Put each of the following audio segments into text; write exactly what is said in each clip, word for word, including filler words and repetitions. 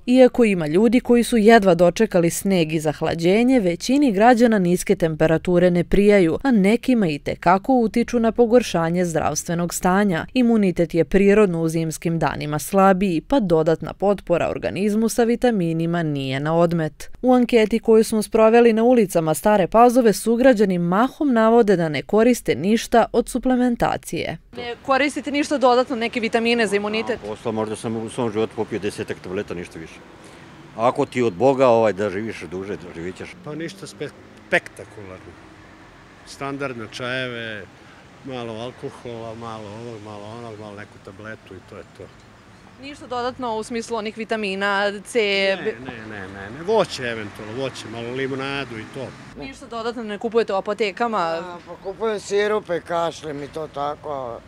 Iako ima ljudi koji su jedva dočekali sneg i zahlađenje, većini građana niske temperature ne prijaju, a nekima i tekako utiču na pogoršanje zdravstvenog stanja. Imunitet je prirodno u zimskim danima slabiji, pa dodatna potpora organizmu sa vitaminima nije na odmet. U anketi koju smo sproveli na ulicama Stare Pazove, sugrađani mahom navode da ne koriste ništa od suplementacije. Ne koristite ništa dodatno, neke vitamine za imunitet? Posla, možda sam u svom životu popio desetak tableta, ništa više. Ako ti od Boga ovaj, da živiš duže, da živit ćeš. Pa ništa spektakularno. Standardne čajeve, malo alkohola, malo ovog, malo onog, malo neku tabletu i to je to. Ništa dodatno u smislu onih vitamina C? Ne, ne, ne, ne, ne. Voće eventualno, voće, malo limonadu i to. Ništa dodatno ne kupujete u apotekama? Pa kupujem sirupe, kašljem i to tako.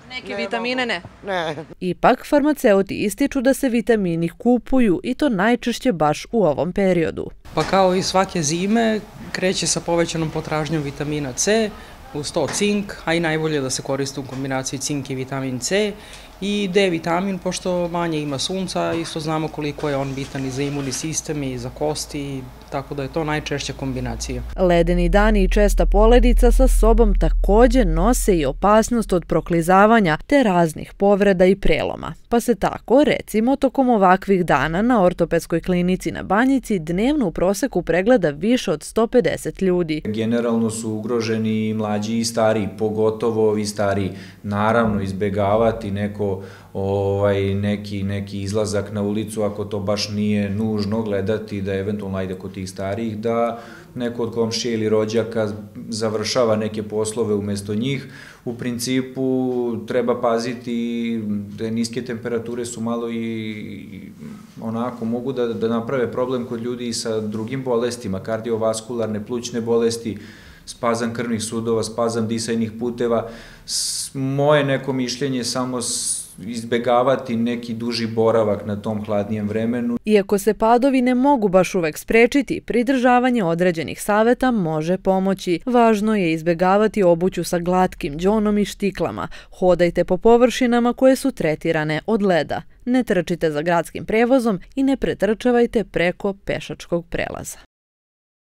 Neke vitamine ne? Ne. Ipak, farmaceuti ističu da se vitamini kupuju i to najčešće baš u ovom periodu. Pa kao i svake zime, kreće sa povećanom potražnjom vitamina C, uz to cink, a i najbolje da se koriste u kombinaciji cink i vitamin C, i D vitamin, pošto manje ima sunca, isto znamo koliko je on bitan i za imunni sistem i za kosti, tako da je to najčešća kombinacija. Ledeni dani i česta poledica sa sobom također nose i opasnost od proklizavanja te raznih povreda i preloma. Pa se tako, recimo, tokom ovakvih dana na ortopedskoj klinici na Banjici dnevno u proseku pregleda više od sto pedeset ljudi. Generalno su ugroženi i mlađi i stariji, pogotovo ovi stariji. Naravno, izbegavati neko Ovaj, neki, neki izlazak na ulicu, ako to baš nije nužno, gledati da eventualno ajde kod tih starijih, da neko od komšije ili rođaka završava neke poslove umesto njih. U principu treba paziti da niske temperature su malo i onako mogu da, da naprave problem kod ljudi i sa drugim bolestima, kardiovaskularne, plućne bolesti, spazam krvnih sudova, spazam disajnih puteva. Moje neko mišljenje samo izbegavati neki duži boravak na tom hladnijem vremenu. Iako se padovi ne mogu baš uvek sprečiti, pridržavanje određenih saveta može pomoći. Važno je izbegavati obuću sa glatkim đonom i štiklama. Hodajte po površinama koje su tretirane od leda. Ne trčite za gradskim prevozom i ne pretrčavajte preko pešačkog prelaza.